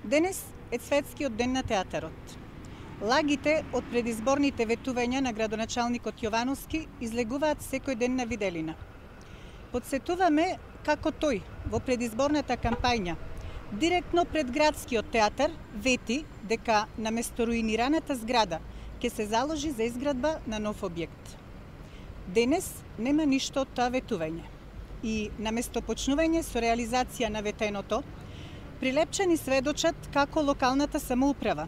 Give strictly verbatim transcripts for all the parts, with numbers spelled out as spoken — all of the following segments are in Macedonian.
Денес е светскиот ден на театарот. Лагите од предизборните ветувања на градоначалникот Јовановски излегуваат секој ден на виделина. Подсетуваме како тој во предизборната кампања директно пред градскиот театар вети дека наместо руинираната зграда ќе се заложи за изградба на нов објект. Денес нема ништо од тоа ветување и наместо почнување со реализација на ветеното, прилепчани сведочат како локалната самоуправа,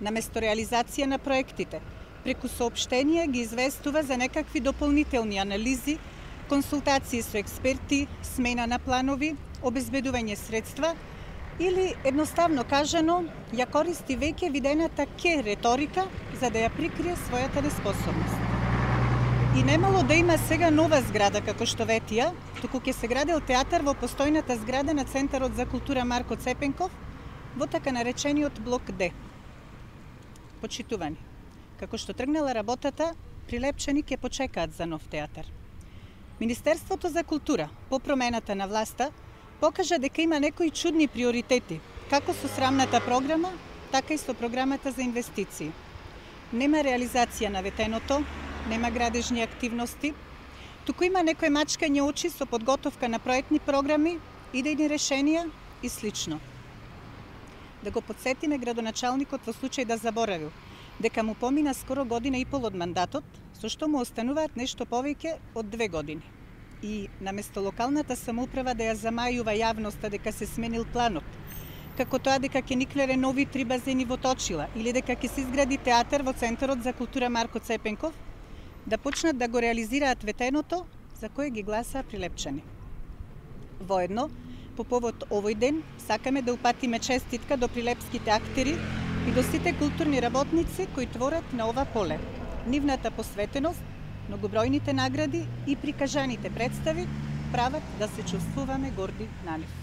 наместо реализација на проектите, преку соопштенија ги известува за некакви дополнителни анализи, консултации со експерти, смена на планови, обезбедување средства или, едноставно кажано, ја користи веќе видената ке реторика за да ја прикрие својата неспособност. И немало да има сега нова зграда, како што ветија, туку ќе се градел театар во постојната зграда на Центарот за култура Марко Цепенков, во така наречениот блок Д. Почитувани, како што тргнала работата, прилепчани ќе почекаат за нов театар. Министерството за култура, по промената на власта, покажа дека има некои чудни приоритети, како со срамната програма, така и со програмата за инвестиции. Нема реализација на ветеното, нема градежни активности, туку има некој мачкање очи со подготовка на проектни програми, идејни решенија и слично. Да го подсетиме градоначалникот во случај да заборавил дека му помина скоро година и пол од мандатот, со што му остануваат нешто повеќе од две години. И наместо локалната самоуправа да ја замајува јавноста дека се сменил планот, како тоа дека ќе никнере нови три базени во Точила или дека ќе се изгради театар во Центарот за култура Марко Цепенков, да почнат да го реализираат ветеното за кое ги гласаа прилепчани. Воедно, по повод овој ден, сакаме да упатиме честитка до прилепските актери и до сите културни работници кои творат на ова поле. Нивната посветеност, многобројните награди и прикажаните представи прават да се чувствуваме горди на нив.